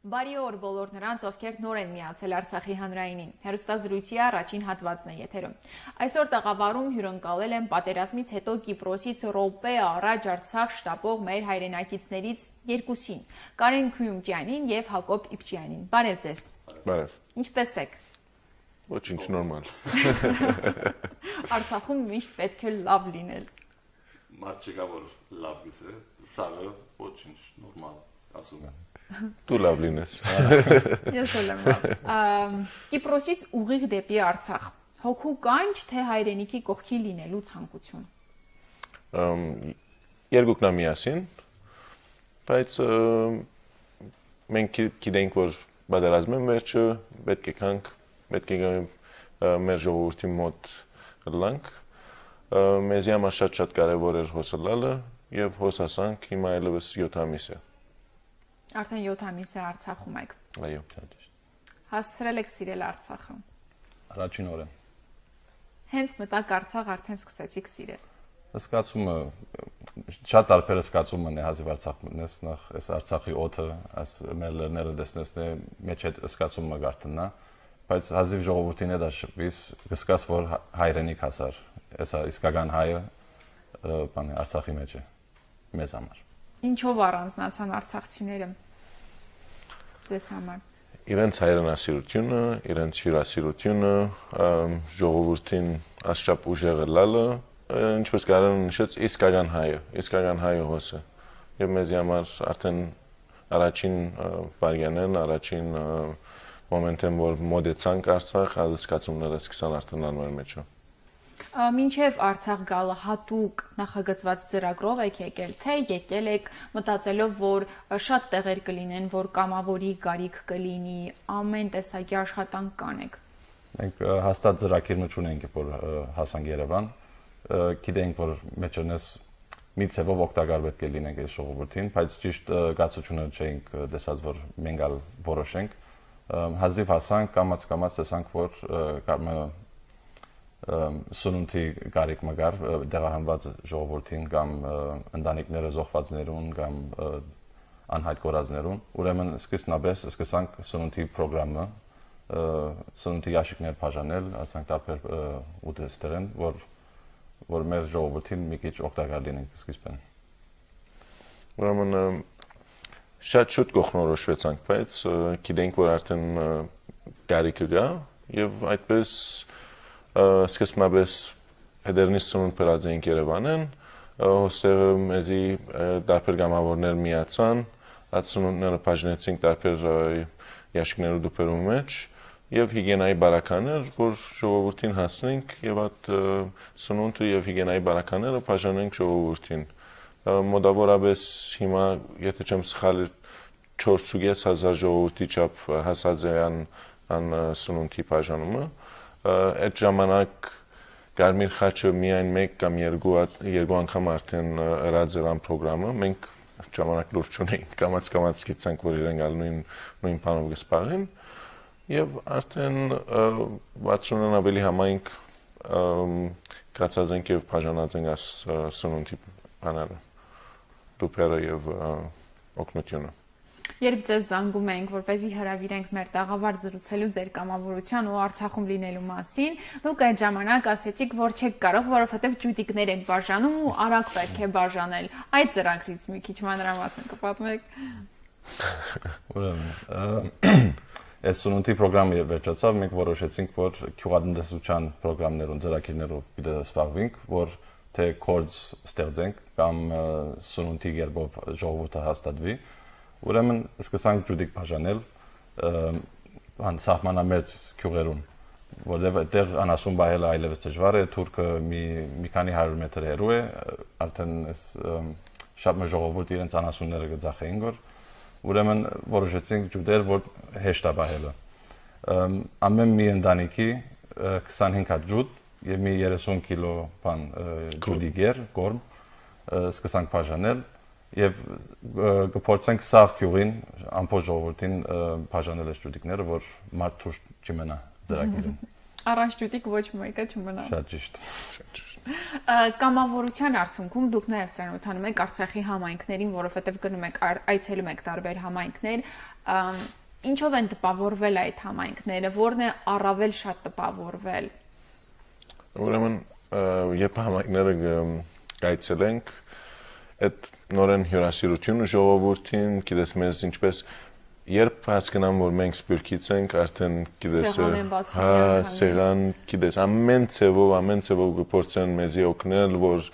Բարի օր բոլոր նրանց, ովքեր նոր են միացել Արցախի հանրայինին։ Հեռուստազրույցի առաջին հատվածն է եթերում։ Այսօր տաղավարում հյուրընկալել են պատերազմից հետո Կիպրոսից րոպե առաջ Արցախ շտապող մեր հայրենակիցներից երկուսին՝ Կարեն Քույումջյանին եւ Հակոբ Իբջյանին։ Բարև ձեզ։ Բարև։ Ինչպե՞ս եք։ Ոչինչ նորմալ։ Արցախում միշտ պետք է լավ լինել։ Մարդ չկա որ լավ գսե, սաղը ոչինչ նորմալ ասում են։ Դու լավ լինես։ Ես էլ եմ լավ։ Կիպրոսից ուղիղ դեպի Արցախ։ Հոգու կանչ, թե հայրենիքի կողքի լինելու ցանկություն։ Երկուքն միասին, բայց մենք գիտենք, որ պատերազմի վերջը պետք է կանք, պետք է մեր ժողովրդի մոտ լանք։ Մեզ համար շատ կարևոր էր հոսալալը եւ հոսասանք հիմա այլևս 7 ամիս է։ Արդեն 7 ամիս է Արցախում եք։ Այո։ Հասցրել եք սիրել Արցախը։ Առաջին օրը։ Հենց մտակ Արցախ արդեն սկսեցիք սիրել։ Զգացումը շատ տարբեր զգացում ունի հազիվ Արցախնես նախ այս Արցախի օդը, այս մեր լեռները դեսնեսնե մեջ այդ զգացումը գարտնա, բայց հազիվ ժողովրդին է դա շփվիս, գսկաս որ հայրենիք հասար, այսա իսկական հայը բանը Արցախի մեջ է մեզ համար։ Ինչով առանձնացան արցախցիները ձեզ համար։ Իրենց հայրենասիրությունը, իրենց հյուրասիրությունը, ժողովրդին ասչափ ուժեղը լալը, ինչպես Կարեն նշեց, իսկական հայը հոսը։ Եվ մեզ համար արդեն առաջին վարյանեն, առաջին մոմենտեն, որ մոտեցանք Արցախ, զգացումները սկսան արդեն անոր մեջը։ Մինչև Արցախ գալը հատուկ նախագծված ծրագրով եք եկել, թե եկել եք մտածելով, որ շատ տեղեր կլինեն, որ կամավորի գարիք կլինի, ամեն տեսակի աշխատանք կանեք։ Մենք հաստատ ծրագիրներ ունենք, որ հասանք Երևան, գիտենք, որ մեջերնես մի ցևով օգտակար պետք է լինենք այս ժողովրդին, բայց ճիշտ գացությունը չենք տեսած, որ մենք ալ որոշենք։ Հազիվ հասանք, կամաց տեսանք, որ սնունդի գարիք մգար դեղահանված ժողովրդին կամ ընտանիքները զոհվածներուն կամ անհայտ կորածներուն ուրեմն սկսանք սնունդի պրոգրամը սնունդի ящикներ բաժանել ասենք տարբեր ուտեստերեն որ մեր ժողովրդին մի քիչ օգտակար լինենք սկիզբեն ուրեմն շատ շուտ կողնորոշվեցանք բայց գիտենք որ արդեն գարիքը գա եւ այդպես սկսմաբես հետերնից սնունդ պրած էինք Երևանեն, հոստեղը մեզի դարբեր գամավորներ միացան, այդ սնունդները պաժնեցինք դարբեր ящикներու դուպերու մեջ և հիգենայի բարականեր, որ ժողովուրդին հասնենք և այդ սնունդը և հիգենայի բարակաները պաժանենք ժողովուրդին։ Մոդավորաբես հիմա, եթե չեմ սխալի 4,500 ժողովուրդի չապ հասած է ան սնունդի պաժանումը, այդ ժամանակ Կարմիր խաչը միայն մեկ կամ երկու անգամ արդեն ըրած էր ան պրոգրամը, մենք ժամանակ լուրջ չունեինք, կամաց գիտցանք, որ իրենք նույն բանով կսպաղեն և արդեն 60-ն ավելի համայնք կացած ենք և բաժանած ենք աս սնունդի բաները, դուպերը և օգնությունը։ Երբ ձեզ զանգում ենք, որպեսզի հրավիրենք մեր տաղավար զրուցելու ձեր կամավորության ու Արցախում լինելու մասին, դուք այդ ժամանակ ասեցիք, որ չեք կարող, որովհետև ջուտիկներ եք բաժանում ու արագ պետք է բաժանել։ Այդ ծրագրից մի քիչ մանրամասն կպատմեք։ Ուրեմն, այս սնունդի պրոգրամը վերջացավ, մենք որոշեցինք, որ գյուղատնտեսության պրոգրամներուն ծրագիրներով պիտի զբաղվենք, որ թե կորձ ստեղծենք կամ սնունդի կերպով ժողովուրդը հաստատվի։ Ուրեմն սկսանք ջուտիկ բաժանել սահմանամերձ գյուղերուն, որտեղ այդտեղ անասուն բայելը այլևս դժվար է, թուրքը մի քանի 100 մետր հեռու է, արդեն շատ մեծ ժողովուրդ իրենց անասունները կձախեին գոր, ուրեմն որոշեցինք ջուտել, որ հեշտ է բայելը։ Ամեն մի ընտանիքի 25 հատ ջուտ եւ մի 30 կիլո բան ջուտի գեր, գորմ սկսանք բաժանել Եվ կփորձենք սաղ գյուղին ամբողջ ժողովրդին բաժանել այս ջուտիկները, որ մարդ թուր չմնա ծրագիրը։ Առանջտուտիկ ոչ մեկը չմնա։ Շատ ճիշտ։ Կամավորության արդյունքում դուք նաև ծանոթանում եք Արցախի համայնքներին, որովհետև գնում եք այցելում եք տարբեր համայնքներ, ինչով են տպավորվել այդ համայնքները, որն է առավել շատ տպավորվել։ Ուրեմն երբ համայնքները այցելենք, այդ նորեն հյուրասիրությունը ժողովրդին, գիտես մեզ ինչպես երբ հասկանամ որ մենք սպիրկից ենք, արդեն գիտես սեղան, գիտես ամեն ցևով գործեն մեզի օգնել, որ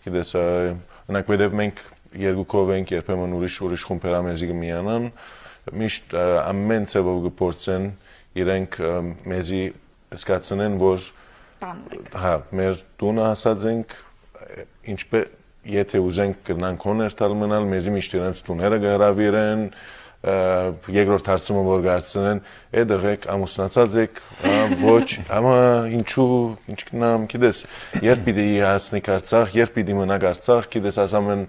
գիտես օրինակ վերև մենք երկուքով ենք, երբեմն ուրիշ խումբեր մեզի կմիանան, միշտ ամեն ցևով գործեն իրենք մեզի զգացնեն, որ հա մեր տունը հասած ենք, ինչպես եթե ուզենք կնանք հոներ տալ մնալ, մեզի միշտ իրենց տուները կհրավիրեն, երկրորդ հարցումը որ գարցնեն, այդ դղեք ամուսնացած եք, ոչ, ամա ինչու, ինչքնամ, գիտես, երբ պիտի հասնեք Արցախ, երբ պիտի մնաք Արցախ, գիտես ասամեն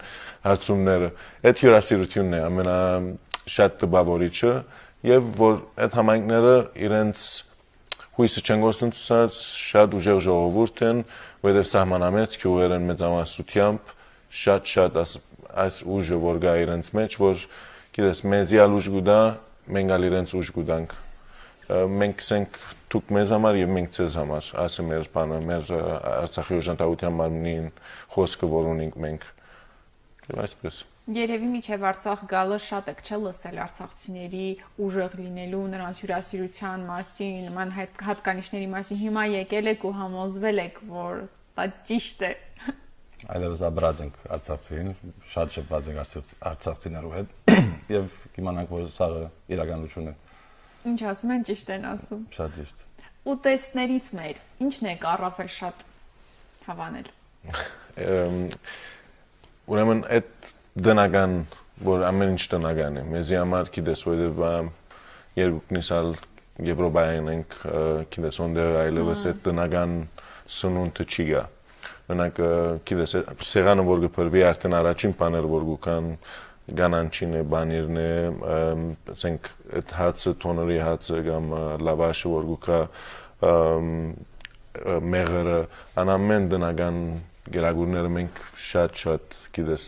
հարցումները, այդ հյուրասիրությունն է ամենաշատ տպավորիչը, եւ որ այդ համայնքները իրենց հույսը չեն գործընծած, շատ ուժեղ ժողովուրդ են, որովհետեւ սահմանամերձ գյուղեր են մեծամասնությամբ, շատ այս ուժը որ գա իրենց մեջ, որ գիտես մեզի ալուժ գուդա, մենք ալ իրենց ուժ գուդանք, մենք կսենք դուք մեզ համար եւ մենք ձեզ համար, ասը մեր բանը, մեր Արցախի օժանդակության մարմնին խոսքը որ ունենք մենք, եւ այսպես։ Երևի միջև Արցախ գալը շատ եք չէ լսել արցախցիների ուժեղ լինելու, նրանց հյուրասիրության մասին, նման հատկանիշների մասին, հիմա եկել եք ու համոզվել եք, որ դա ճիշտ է։ Այլևս աբրած ենք արցախցին, շատ շփված ենք արցախցիներու հետ եւ կիմանանք որ սա իրականություն է։ Ինչ ասում են, ճիշտ են ասում։ Շատ ճիշտ։ Ուտեստներից մեր ինչն է առավել շատ հավանել։ Ուրեմն այդ դնական, որ ամեն ինչ տնական է, մեզի համար գիտես որովհետեւ երկուքնից ալ Եվրոպայեն ենք, գիտես ոնդեր այլևս այդ տնական սնունդը չի գա։ Օրինակ գիտես սեղանը որ գփրվի արդեն առաջին բաները որ գուքան գանանչին է, բանիրն է, ասենք այդ հացը, թոների հացը կամ լավաշը որ գուքա մեղրը, անամեն տնական գերագուրները մենք շատ գիտես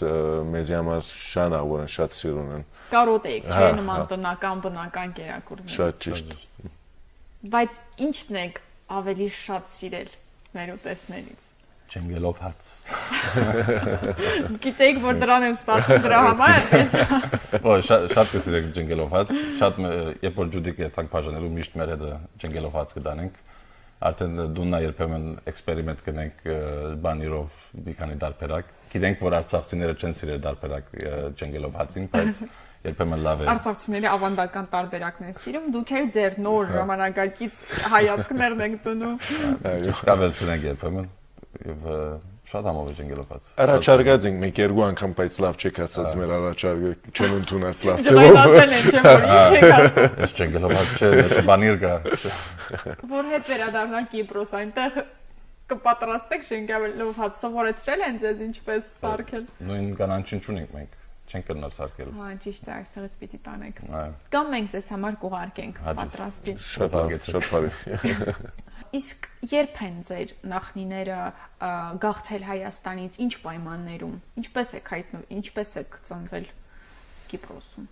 մեզի համար շատ ավոր են, շատ սիրուն են։ Կարոտ եք, չէ՞ նման բնական գերագուրներ։ Շատ ճիշտ։ Բայց ի՞նչն եք ավելի շատ սիրել մեր ուտեստներից։ Ջենգելով հաց։ Գիտեք որ դրան են սպասում դրա համար այդպես։ Ոայ շատ կսիրեք ջենգելով հաց, շատ երբ որ ջուդիկ երթանք բաժանելու միշտ մեր հետ ջենգելով հաց կդանենք։ Արդեն դուննա երբեմն էքսպերիմենտ կնենք բանիրով մի քանի դարբերակ։ Գիտենք որ արցախցիները չեն սիրել դարբերակ ջենգելով հացին, բայց երբեմն լավ է։ Արցախցիները ավանդական տարբերակն են սիրում, դուք էլ ձեր նոր ժամանակակից հայացքներն եք տնում։ Այո, կավելցնենք երբեմն եւ շատ համով ջենգելով հաց։ Առաջարկած ենք մեկ երկու անգամ, բայց լավ չեք ասած մեր առաջարկը, չեն ընդունած լավ ձևով։ Դրայնացել են, չէ՞ որ ինչ եք ասում։ Այս ջենգելով հաց չէ, բանիր կա։ Որ հետ վերադառնանք Կիպրոս, այնտեղ կպատրաստեք ջենգելով հաց, սովորեցրել են ձեզ ինչպես սարքել։ Նույն կանանչին չունենք մենք, չենք կրնալ սարքել։ Հա, ճիշտ է, այստեղից պիտի տանեք։ Այո։ Կամ մենք ձեզ համար կուղարկենք պատրաստի։ Շատ բարի։ Իսկ երբ են ձեր նախնիները գաղթել Հայաստանից, ինչ պայմաններում, ինչպես եք հայտնվել, ինչպես եք ծնվել Կիպրոսում։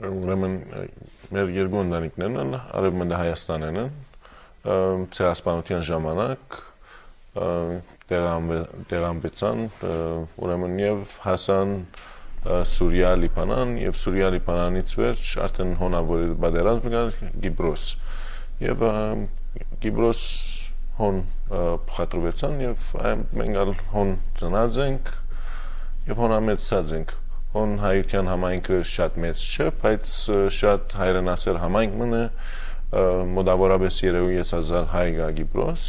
Ուրեմն մեր երկու ընտանիքներն են Արևմտյան Հայաստանն են, ցեղասպանության ժամանակ տեղամբեցան, ուրեմն եւ հասան Սուրիա, Լիբանան եւ Սուրիա, Լիբանանից վերջ արդեն հոնավոր պատերազմ կար Կիպրոս եւ Կիպրոս հոն փոխադրվեցան եւ մենք հոն ծնած ենք եւ հոնամեծած ենք հոն հայության համայնքը շատ մեծ չէ բայց շատ հայրենասեր համայնք մնը մոտավորապես 3000 հայ գա Կիպրոս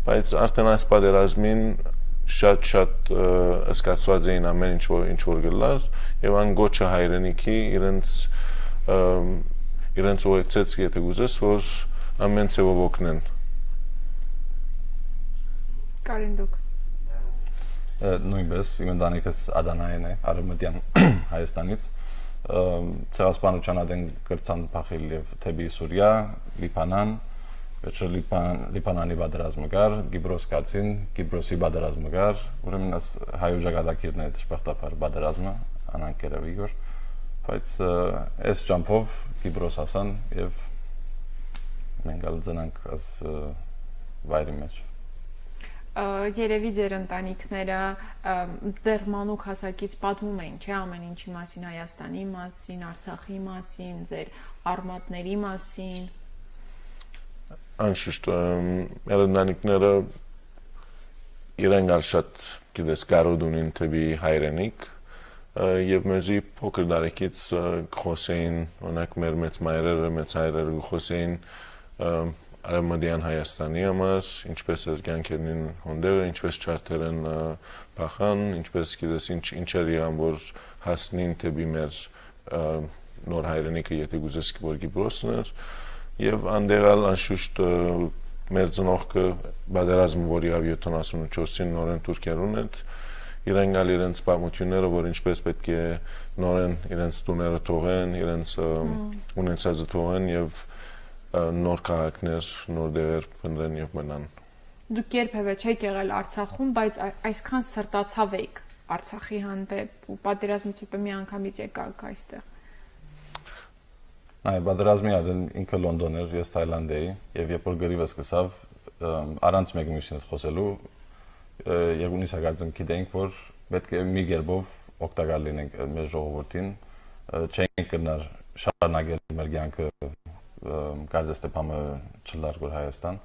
բայց արդեն այս պատերազմին շատ ըսկացված էին ամեն ինչ որ գլար եւ ան գոչը հայրենիքի իրենց ուղեկցեց եթե գուզես որ ամեն ցեվով օգնեն Կարին դուք նույնպես իմ ընտանիքս Ադանայեն է Արևմտյան Հայաստանից ցեղասպանության ադեն կրցան փախել եւ թեպի Սուրիա, Լիբանան Վերջը Լիբանանի պատերազմը կար, Կիպրոս կացին, Կիպրոսի պատերազմը կար, ուրեմն այս հայ ուժագադակիրն է դժբախտաբար պատերազմը, անանկերով իգոր, բայց այս ճամփով Կիպրոս ասան եւ մենք ալձնանք այս վայրի մեջ։ Երևի ձեր ընտանիքները դեռ մանուկ հասակից պատմում էին, չէ՞, ամեն ինչի մասին, Հայաստանի մասին, Արցախի մասին, ձեր արմատների մասին։ Անշուշտ, մեր ընտանիքները իրենք շատ գիտես կարոտ ունին թեպի հայրենիք եւ մեզի փոքր տարեկից խոսեին, օրինակ մեր մեծ մայրերը, մեծ հայրերը խոսեին Արևմտյան Հայաստանի համար, ինչպես էր կյանքերին հոնդերը, ինչպես չարթերեն փախան, ինչպես գիտես ինչեր եղան, որ հասնին թեպի մեր նոր հայրենիքը, եթե գուզես որ Կիպրոսն էր, եւ անդերալ անշուշտ մեր ծնողքը պատերազմը, որ եղավ 74-ին նորեն Թուրքիայում էր, իրենք ալ իրենց պատմությունները, որ ինչպես պետք է նորեն իրենց տուները թողեն, իրենց ունեցածը թողեն եւ նոր քաղաքներ, նոր դեր փնտրեն եւ մնան։ Դուք երբևէ չեք եղել Արցախում, բայց այսքան սրտացավ եք Արցախի հանդեպ ու պատերազմից հետո մի անգամից եկաք այստեղ։ Այ պատերազմի արդեն ինքը Լոնդոն էր, ես Թայլանդ էի եւ երբ որ գրիվը սկսավ առանց մեկ մյուսին հետ խոսելու Եգունիս հագածում գիտենք որ պետք է մի գերբով օգտակար լինենք մեր ժողովրդին, չենք կնար շարունակել մեր կյանքը Կարծես թե բամը չլարգոր Հայաստան։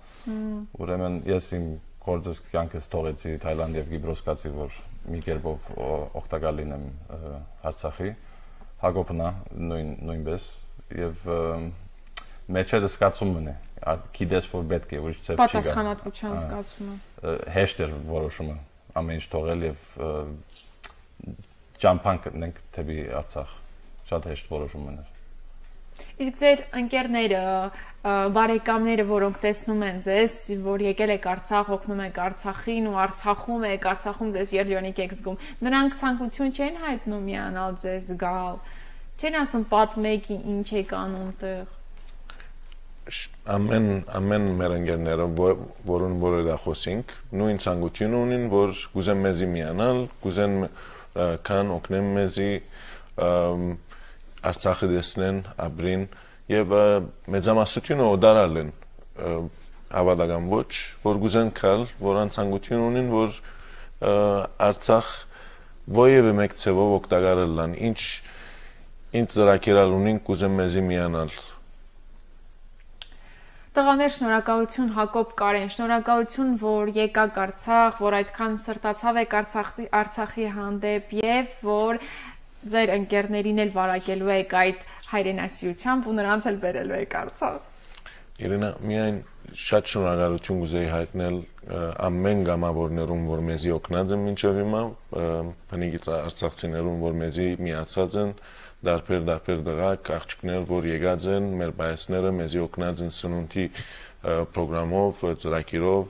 Ուրեմն ես իմ գործս կյանքս թողեցի Թայլանդ եւ Կիպրոս կացի, որ մի կերպով օգտակար լինեմ Արցախի, Հակոբնա նույնպես եւ մեջը զգացումն է, գիտես որ պետք է ուրիշ ծեր չի գա։ Պատասխանատվության զգացումը։ Հեշտ էր որոշումը, ամեն ինչ թողել եւ ճամփան գտնենք թեպի Արցախ։ Շատ հեշտ որոշում էր։ Իսկ ձեր ընկերները, բարեկամները, որոնք տեսնում են ձեզ, որ եկել եք Արցախ, օգնում եք Արցախին ու Արցախում եք, Արցախում ձեզ երջանիկ եք զգում, նրանք ցանկություն չեն հայտնում միանալ ձեզ գալ, չեն ասում պատմեք ինչ եք անում տեղ։ Ամեն մեր ընկերները, որոնց որը խոսենք, նույն ցանկություն ունին, որ գուզեն մեզի միանալ, գուզեն կան օգնեն մեզի Արցախը դեսնեն, ապրին եւ մեծամասնությունը օդարալ են հավատական ոչ, որ գուզեն կալ, որ անցանկություն ունին, որ Արցախ ովևէ մեկ ցևով օգտակարել լան, ինչ ծրակերալ ունին, գուզեն մեզի միանալ։ Տղաներ, շնորհակալություն Հակոբ Կարեն, շնորհակալություն, որ եկաք Արցախ, որ այդքան սրտացավ եք Արցախի հանդեպ եւ որ ձեր ընկերներին էլ վարակելու եք այդ հայրենասիրությամբ ու նրանց էլ բերելու եք Արցախ։ Իրենա, միայն շատ շնորհակալություն կուզեի հայտնել ամեն գամավորներուն, որ մեզի օգնած են մինչև հիմա, բնիկից արցախցիներուն, որ մեզի միացած են, դարբեր դղակ, աղջիկներ, որ եկած են, մեր բայեսները մեզի օգնած են սնունդի պրոգրամով, ծրագիրով,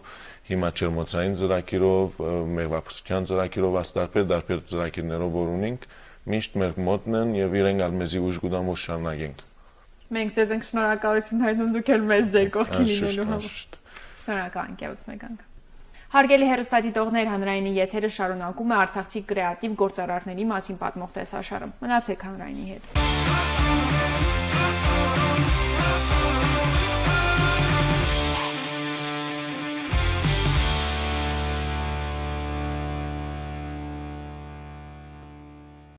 հիմա ջերմոցային ծրագիրով, մեղվապահության ծրագիրով, դարբեր ծրագիրներով որ ունենք, միշտ մեր մոտն են եւ իրենք ալ մեզի ուժ կտան որ շարունակենք։ Մենք ձեզ ենք շնորհակալություն հայտնում, դուք էլ մեզ ձեր կողքին լինելու համար։ Շնորհակալ ենք եւս մեկ անգամ։ Հարգելի հեռուստադիտողներ, հանրայինի եթերը շարունակում է արցախցի կրեատիվ գործարարների մասին պատմող տեսաշարը։ Մնացեք հանրայինի հետ։